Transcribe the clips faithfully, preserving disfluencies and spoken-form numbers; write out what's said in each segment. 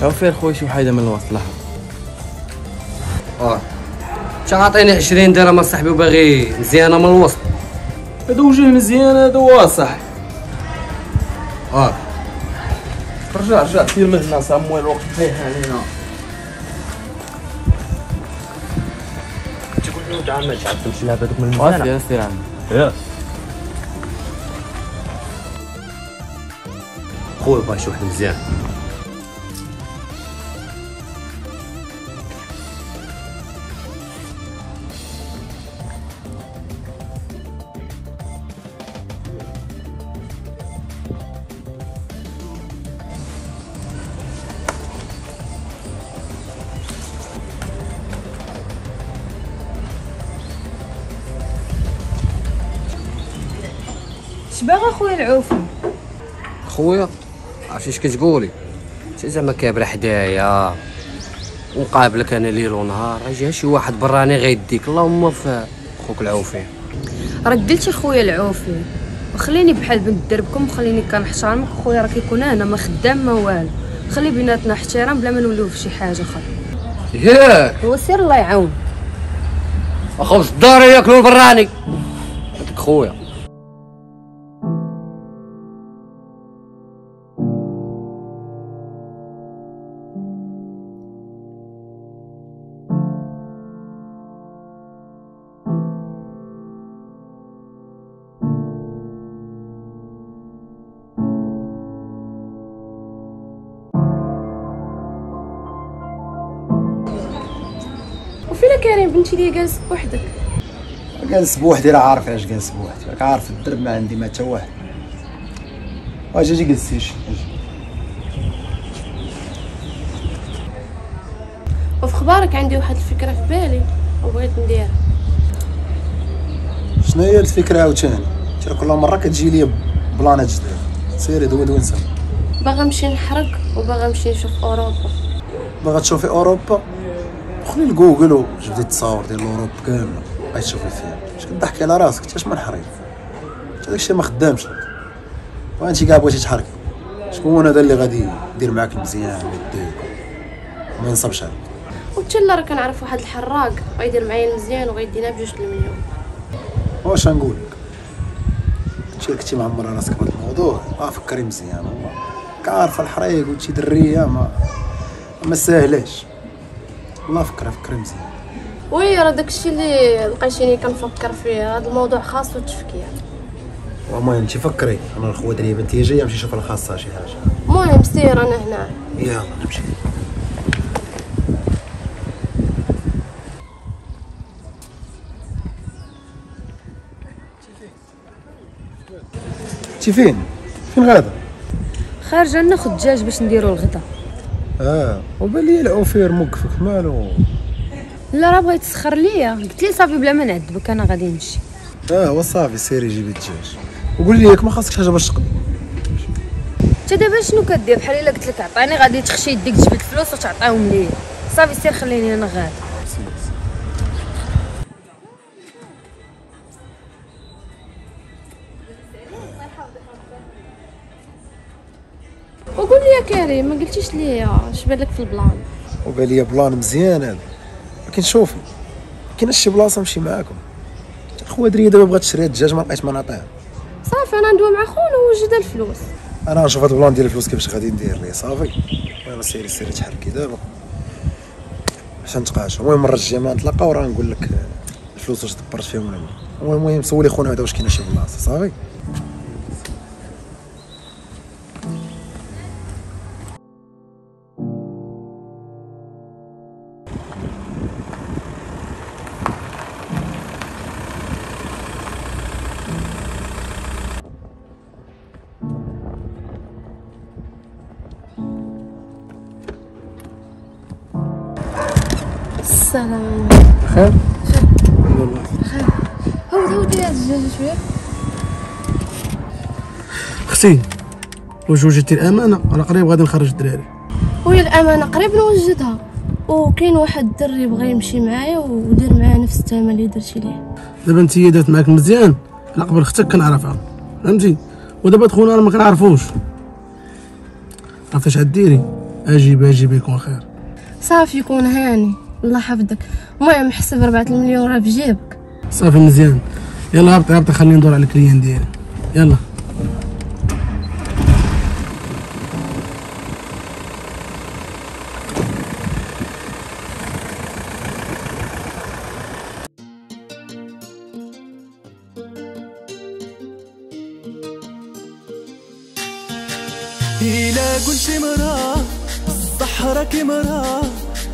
عوفير خويا شي وحيده من الوسط لها. اه انت عاطيني عشرين درهم اصاحبي وباغي مزيانه من الوسط. هذا وجه مزيان هذا هو صح. اه رجع رجع سير من هنا صامويل الوقت طيح علينا. تقول له تعال تعبت تلعب هذوك من المزيانه. سير سير عمي. ياك خويا باغي شي واحد مزيان. اش باغا خويا العوفي؟ خويا عرفتي اش كتقولي؟ انت زعما كابره حدايا ونقابلك انا ليل ونهار، يجي شي واحد براني غيديك اللهم في خوك العوفي. راك قلتي خويا العوفي وخليني بحال بنت دربكم وخليني كنحترمك خويا، راه كيكون انا ما خدام ما والو، خلي بيناتنا احترام بلا ما نوليو في شي حاجة اخرى. ياك هو سير الله يعاون. خبز الدار ياكلو البراني هذاك خويا. وفين كريم بنتي لي جالس بوحدك؟ جالس بوحدي راه عارف علاش جالس بوحدي، راك عارف الدرب ما عندي ما حتى واحد. واجي اجي جلسي اجي. وفي خبارك عندي واحد الفكرة في بالي وبغيت نديرها. شنو هي الفكرة عاوتاني؟ انت كل مرة كتجي لي بلانات جديد. سيري دوي دوي نسى. باغا نمشي نحرق وباغا نمشي نشوف اوروبا. باغا تشوفي اوروبا؟ دخلي لجوجل وجبدي التصاور ديال اوروبا كاملة بقاي تشوفي فيها. اش كضحكي على راسك؟ حتى اش من حريف حتى داكشي ما خدامش لك. وانت كاع بغيتي تحركي، شكون هذا اللي غادي يدير معاك المزيان ويديك وما ينصبش عليك؟ وحتى لا راه كنعرف واحد الحراق غيدير معايا المزيان وغيدينا بجوج المليون. واش نقول لك، انت كنتي معمره راسك بهذا الموضوع، اه فكري مزيان والله. كعارفه الحريق وانت دريه ما ما ساهلاش والله. فكري فكري مزيان. oui راه داكشي اللي لقيتيني كنفكر فيه، هذا الموضوع خاصو التفكير. المهم انت فكري، انا الخوه دريه بنتي جاية نمشي نشوف الخاصة شي حاجة. المهم سير انا هنا. يلا نمشي. انت فين؟ فين غادا؟ خارجه ناخذ دجاج باش نديرو الغدا. اه وبان لي العوفير موقفك مالو؟ لا راه بغيت تسخر ليا، قلت لي صافي بلا ما نعذبك انا غادي نمشي. اه هو صافي سيري جيبي الدجاج وقولي لي ياك ما خاصكش حاجة باش تقضي. انت دابا شنو كدير؟ بحال الا قلت لك عطيني غادي تخشي يديك تجبد الفلوس وتعطيهم ليا. صافي سير خليني انا غادي. وقول لي يا كريم ما قلتيش لي اش بان لك في ال plan؟ وبان لي plan مزيان هذا، ولكن شوفي كاين شي بلاصة نمشي معاكم. خويا دريه دابا بغات تشري الدجاج ما لقيت ما نعطيها. صافي انا ندوي مع خونا ووجد الفلوس. انا نشوف هذا ال plan ديال الفلوس كيفاش غادي ندير ليه. صافي المهم سيري سيري تحركي دابا باش نتقاش. المهم المرة الجاية ما نتلاقاو راه نقول لك الفلوس واش دبرت فيهم ولا لا. المهم سولي خونا هذا واش كاينه شي بلاصة. صافي السلام. خير؟ خير. هود هود لي هاد الدجاجة شوية. اختي واش وجدتي الامانة؟ انا قريب غادي نخرج الدراري. oui الامانة قريب نوجدها، وكاين واحد الدري بغى يمشي معايا ودير معايا نفس الثمن اللي درتي ليه. دابا انت دارت معاك مزيان، انا قبل اختك كنعرفها فهمتي، ودابا خونا راه ما كنعرفوش. عرفتي اش غديري؟ اجيب اجيب يكون خير. صافي يكون هاني، الله يحفظك. المهم حسب أربعة المليون راه في جيبك. صافي مزيان، يلا هبطي هبطي خليني ندور على ال client ديالي. يلا إلا قلت مرا بصح راكي مرا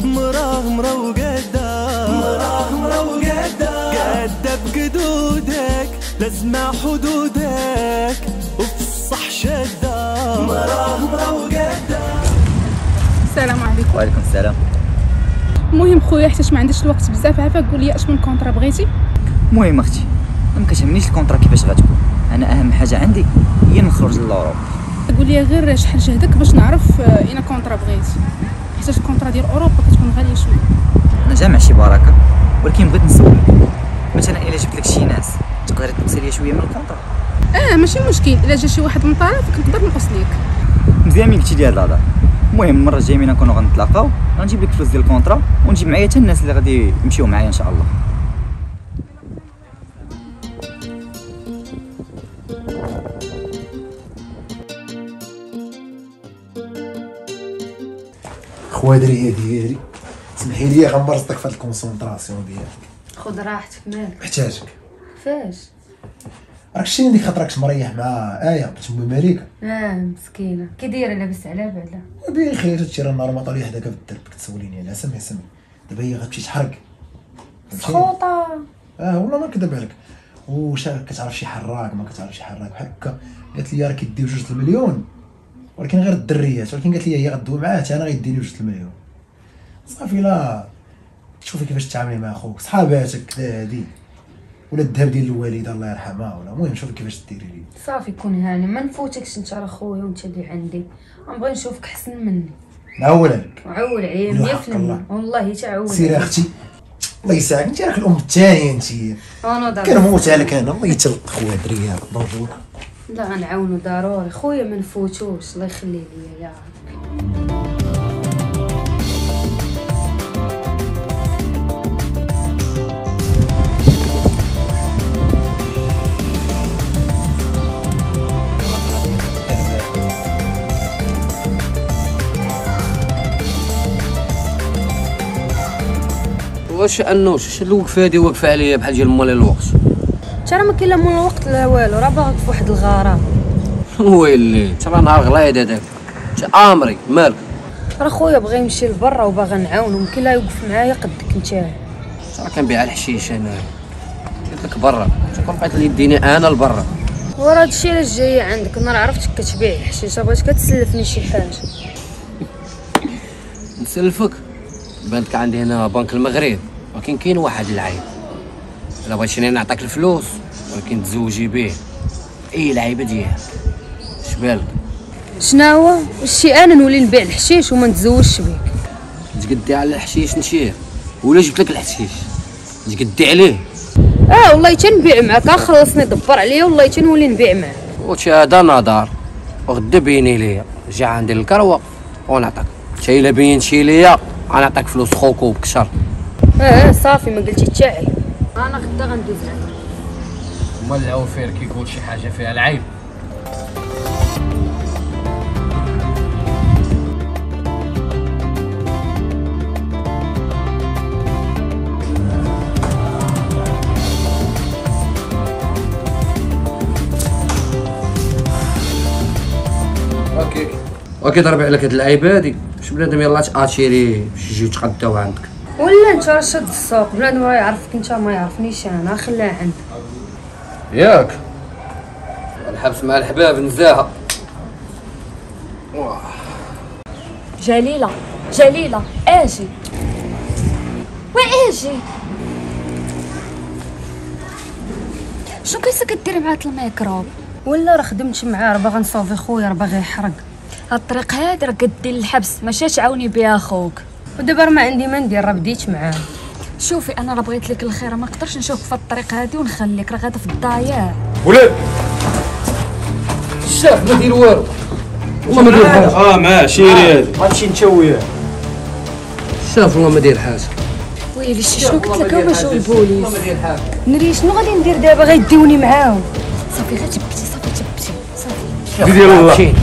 مرا مرا وقادة مرا مرا وقادة قادة بقدودك لازمة حدودك وفي الصح شادة مرا مرا وقادة. السلام عليكم. وعليكم السلام. المهم خويا حيت ما عنديش الوقت بزاف، عافاك قول لي اش من contrat بغيتي. المهم اختي ما كتهمنيش ال contrat كيفاش غتكون، انا اهم حاجة عندي هي نخرج ل l'Europe. قول لي غير شحال جهدك باش نعرف اين contrat بغيتي، حيت ال contrat ديال اوروبا كتكون غالية شوية. انا جامع شي بركة، ولكن بغيت نسولك مثلا الا جبت لك شي ناس تقدري تنقصي لي شوية من ال contrat؟ اه ماشي مشكل، الا جا شي واحد من طرفك نقدر نقص ليك. مزيان ملي قلتي لي هاد الهضرة. المهم المرة الجاية ملي نكونوا غنتلاقاو غنجيب لك فلوس ديال ال contrat ونجيب معايا حتى الناس اللي غادي يمشيو معايا ان شاء الله. خوادريه ديالي سمحي لي غنبرزطك في هاد ال concentration ديالك. خذ راحتك مالك. محتاجك. فاش؟ راك شتيني ديك خاطرك مريح مع ايه بنت امي مليكة. اه مسكينه كي دايرة لاباس عليها بعدا؟ بخير هادشي راه النهار ما طالع حداك في الدرب كتسوليني على سمي سمي. دابا هي غتمشي تحرق سخوطه. اه والله ما نكذب عليك. واش كتعرف شي حراق؟ ما كتعرف شي حراق بحال هكا. قالت لي راه كيديو جوج المليون ولكن غير الدريات، ولكن قالت لي هي غدوي معاه حتى انا غيديني جوج المليون. صافي لا تشوفي كيفاش تعاملي مع خوك، صحاباتك كذا هادي ولا الذهب ديال الوالدة الله يرحمها ولا، المهم شوفي كيفاش ديري لي. صافي كون هاني ما نفوتكش انت راه خويا وانت اللي عندي، غنبغي نشوفك احسن مني. نعول عليك. عول عليا مية في المية والله تعول. سيري اختي الله يساعدك، انت راك الام الثانية انت. انا كنموت عليك انا، الله يتلق خويا دريه bonjour. لا غنعاونو ضروري خويا ما نفوتوش، الله يخلي ليا يا ربي. واش انوش الوقفة هادي واقفة عليا بحال ديال مالي الوقت؟ انت راه ما كاين لا مول الوقت لا والو، راه باغيك في واحد الغرام. ويلي انت راه نهار غليظ هذاك، انت امري مالك؟ راه خويا بغى يمشي لبرا وباغي نعاونو، ممكن لا يوقف معايا قدك انت. انت راه كنبيع الحشيش انا، قلت لك برا، انت كون بقيت اللي يديني انا لبرا. وراه هادشي علاش جاية عندك، انا راه عرفتك كتبيع الحشيش، بغيت كتسلفني شي حاجة. نسلفك؟ بانت عندي هنا بنك المغرب، ولكن كاين واحد العيب، الا بغيتيني نعطيك الفلوس ولكن تزوجي به اي لعيبة ديالك. اش بالك؟ شناهو شي انا نولي نبيع الحشيش وما نتزوجش بك؟ تقدي على الحشيش نشير ولا جبت لك الحشيش تقدي عليه؟ اه والله تنبيع معاك، خلصني دبر عليا والله تنولي نبيع معاك. وشي هذا نظر وغدا بيني ليا، جا عندي الكروه ونعطيك، حتى الا بينتي ليا غنعطيك فلوس خوك وبكشر. اه صافي ما قلتي حتى عيب، انا غدا غندوز عندك. مال العوفير كيقول شي حاجة فيها العيب. okay okay ضربي عليك هاد اللعيبة هادي باش بنادم يلاه تاتيري باش يجيو يتغداو عندك. ولا انت راه شاد السوق، بنادم راه يعرفك انت ما يعرفنيش انا، خليها عندك. ياك الحبس مع الحباب نزاهة. جليلة جليلة اجي واجي، شنو كاينه كديري مع هاد الميكروب؟ ولا راه خدمت معاه، راه باغا نصوفي خويا، راه باغي يحرق. هاد الطريق هادي راه كدير الحبس، ماشي تعاوني بها خوك. ودابا راه ما عندي ما ندير، راه بديت معاه. شوفي انا راه بغيت لك الخير، ما نقدرش نشوفك في الطريق هادي ونخليك، راه غادا في الضياع. ولاد الشاف ما دير والو، والله ما داير حاجة. اه معاه شيري هادي غتمشي انت وياه. شاف والله ما داير حاجة. ويلي شنو قلت لك؟ هما جاو البوليس. نري شنو غادي ندير دابا؟ غيديوني معاهم. صافي غير تبتي، صافي تبتي، صافي. ديال الله.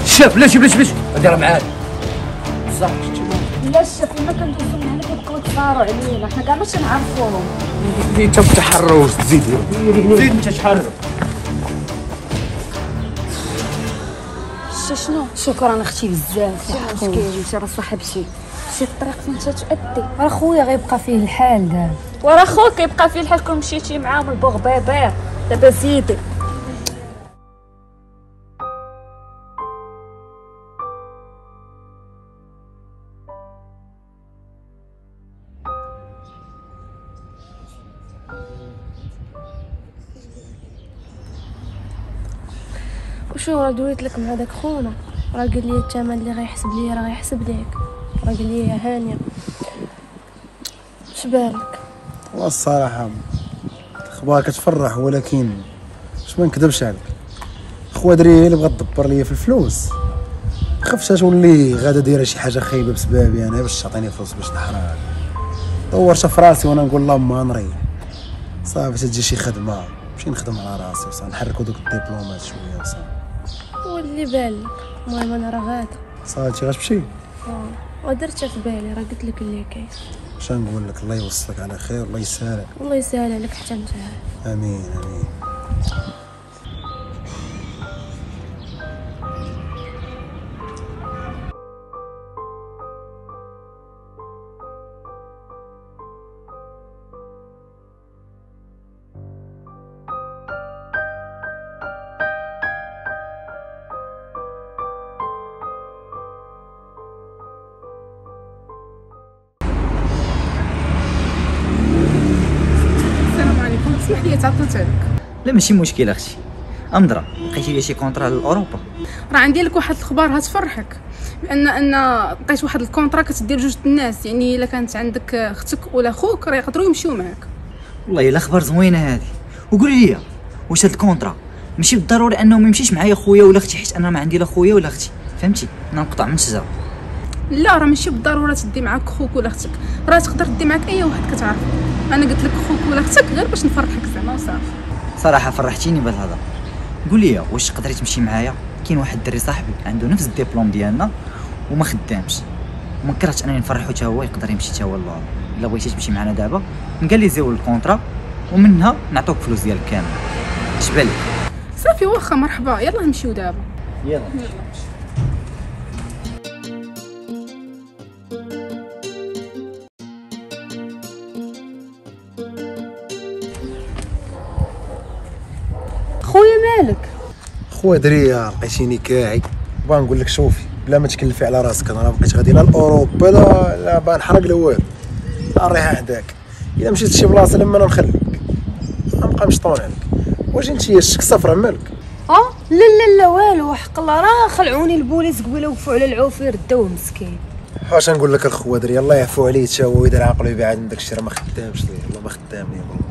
شاف بلاش بلاش بلاش هادي راه معاك صح. لا الشاف لما كندوزو من هنا كيبقاو يتفاروا علينا، حنا كاع ما تنعرفوهم. انت بتحرش تزيد زيد انت تحرر. شنو؟ شكرا اختي بزاف. شي مشكل انت راه صاحبتي، شي الطريق فين تؤدي. راه خويا غيبقى فيه الحال دابا. وراه خوك كيبقى فيه الحال كون مشيتي معاهم البوغبيبير. دابا زيدي. وشو راه دويت لك مع داك خونا، راه قال لي الثمن اللي غيحسب لي راه غيحسب ليك، راه قال لي هانيه. اش بالك؟ والله الصراحة اخبار كتفرح، ولكن باش ما نكذبش عليك خويا دري اللي بغات تدبر ليا في الفلوس، خفت تولي غادا دايرة شي حاجة خايبة بسبابي انا باش تعطيني فلوس باش نحرق. دورت في راسي وانا نقول اللهم نريح صافي تجي شي خدمة نمشي نخدم على راسي وصافي نحركو دوك الدبلومات شوية وصافي. واللي بالك المهم انا راه غاده. صافي انت غتمشي؟ اه ودرتها في بالي، راه قلت لك اللي كاين. اش نقول لك؟ الله يوصلك على خير، الله يسهلك. الله يسهل عليك حتى انت. امين امين. اسمح لي تعطلت عليك. لا ماشي مشكل اختي. امدرا لقيتي لي شي contrat لاوروبا؟ راه عندي لك واحد الخبر هتفرحك، بان ان لقيت واحد ال contrat كتدير جوج الناس، يعني الا كانت عندك اختك ولا خوك راه يقدروا يمشيو معاك. والله الا خبر زوينة هذه. وقولي لي واش هاد ال contrat ماشي بالضروري انه ما يمشيش معايا خويا ولا اختي، حيت انا ما عندي لا خويا ولا اختي، فهمتي؟ انا نقطع من الشجرة. لا راه ماشي بالضرورة تدي معاك خوك ولا اختك، راه تقدر تدي معاك اي واحد كتعرفه. انا قلت لك خوك ولا اختك غير باش نفرحك زعما وصافي. صراحة فرحتيني بهذا. قول لي واش تقدري تمشي معايا؟ كاين واحد الدري صاحبي عنده نفس الدبلوم ديالنا وما خدامش، وما كرهتش انني نفرحو حتى هو يقدر يمشي حتى هو للأوروبا. الا بغيتي تمشي معنا دابا نكاليزيو ال contrat ومنها نعطوك فلوس ديالك كامل. اش بالك؟ صافي واخا مرحبا، يلا نمشيو دابا. يلا خويا مالك؟ خويا دريه لقيتيني كاعي، بغا نقول لك شوفي بلا ما تكلفي على راسك، انا راه بقيت غادي لا لاوروبا لا لا بغا نحرق لا والو، الريحة حداك. الا مشيت لشي بلاصة لما انا نخليك غنبقى مشطون عليك. واش انت شك صفرا مالك؟ اه لا لا لا والو، حق الله راه خلعوني البوليس قبيلة وقفوا على العوفير داوه مسكين. واش نقول لك الخوا دريه الله يعفو عليه حتى هو ويدير عقلو يبعد من داكشي، راه ما خدامش ليه والله ما خدام ليه والله.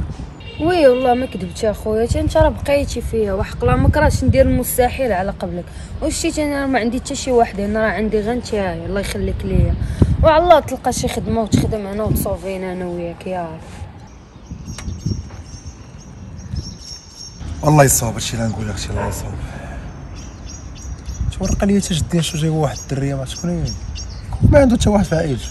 oui والله ما كذبتي اخويا، حتى انت راه بقيتي فيا وحق الله ما كرهتش ندير المستحيل على قبلك. وشتي انا ما عندي حتى شي واحد هنا، راه عندي غير انت، الله يخليك ليا. وعلى الله تلقى شي خدمة وتخدم هنا وتصوفينا انا وياك يا رب. والله يصوب هادشي اللي نقول لك، هادشي الله يصوب. تورق لي حتى جدي شو جاي واحد الدريه ما شكون هي، ما عنده حتى واحد في عائلته.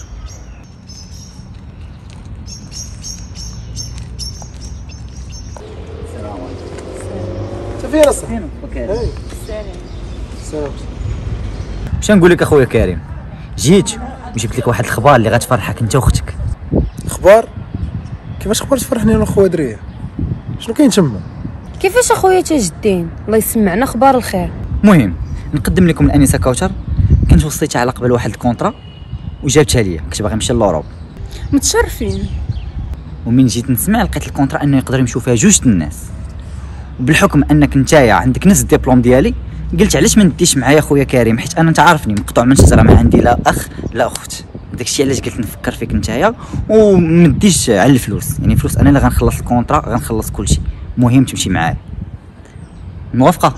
فين اصلا؟ السلام. السلام. باش نقول لك اخويا كريم، جيت وجبت لك واحد الخبار اللي غتفرحك انت واختك. اخبار؟ كيفاش اخبار تفرحني انا خويا دريه؟ شنو كاين تما؟ كيفاش اخويا تاج الدين؟ الله يسمعنا اخبار الخير. المهم نقدم لكم الانسة كوثر، كنت وصيتها على قبل واحد ال contrat وجابتها ليا، كنت باغي نمشي l'Europe. متشرفين. ومن جيت نسمع لقيت ال contrat انه يقدر يمشيو فيها جوج الناس، وبالحكم انك نتايا عندك نفس الدبلوم ديالي قلت علاش ما نديش معايا خويا كريم، حيت انا انت عارفني مقطوع من شجرة، ما عندي لا اخ لا اخت. داكشي علاش قلت نفكر فيك نتايا وما نديش على الفلوس، يعني فلوس انا اللي غنخلص ال contrat غنخلص كلشي، المهم تمشي معايا. موافقة؟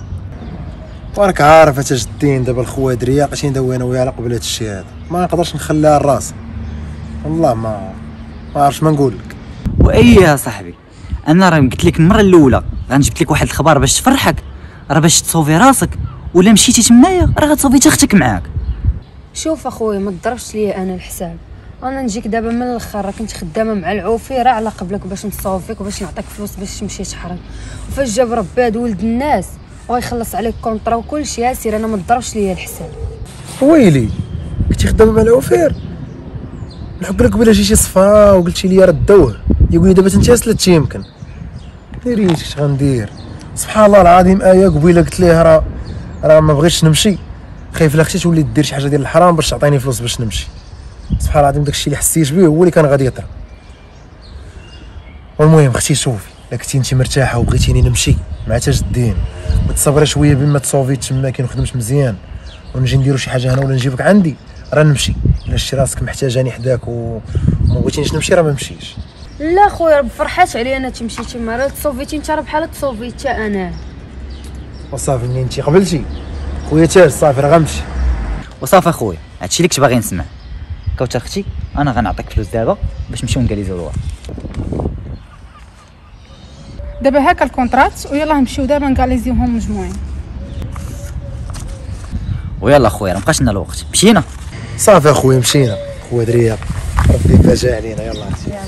وراك عارف تاج الدين دابا الخوادريه بقيتي ندوي انا وياها على قبل هذا الشيء هذا، ما نقدرش نخليها لراسي والله. ما ما عرفتش ما نقول لك. وايه صاحبي، انا راه قلت لك المرة الاولى غنجبت لك واحد الخبر باش تفرحك، راه باش تصوفي راسك، ولا مشيتي تمايا راه غتصوفي حتى اختك معاك. شوف اخويا ما تضربش ليا انا الحساب، انا نجيك دابا من الاخر، راه كنت خدامه مع العوفي راه على قبلك باش نصوفيك وباش نعطيك فلوس باش تمشي تحرق، وفاش جاب ربي هاد ولد الناس ويخلص عليك contrat وكلشي، يا سير انا ما تضربش ليا الحساب. ويلي كنتي خدامه مع العوفير؟ نحك لك بلا جيتي صفرا وقلتي لي راه دوه، يقول لي دابا انت سلتي يمكن. ديري اش غندير؟ سبحان الله العظيم. ايه قبيلة قلت ليه راه راه ما بغيتش نمشي، خايف لا اختي تولي دير شي حاجة ديال الحرام باش تعطيني فلوس باش نمشي. سبحان الله العظيم داكشي اللي حسيت به هو اللي كان غادي يطرا. والمهم اختي شوفي، الا كنتي انت مرتاحة وبغيتيني نمشي مع تاج الدين وتصبري شوية بما تصوفي تما كي نخدمش مزيان ونجي نديرو شي حاجة هنا ولا نجيبك عندي، راه نمشي. الا شتي راسك محتاجاني حداك وما بغيتينيش نمشي راه ما نمشيش. لا خويا راه فرحات عليا انا تمشي تما، راه تصوفيتي انت راه بحال تصوفيت حتى انا. وصافي منين انت قبلتي خويا تاج صافي راه غنمشي. وصافي اخويا هادشي اللي كنت باغي نسمع. كوثر اختي انا غنعطيك فلوس دابا باش نمشيو نكاليزيو الورق. دابا هاكا ال contrat ويلاه نمشيو دابا نكاليزيوهم مجموعين. ويلا خويا راه مابقاش لنا الوقت، مشينا. صافي اخويا مشينا. خويا دريا ربي فاجا علينا. يلا يلا.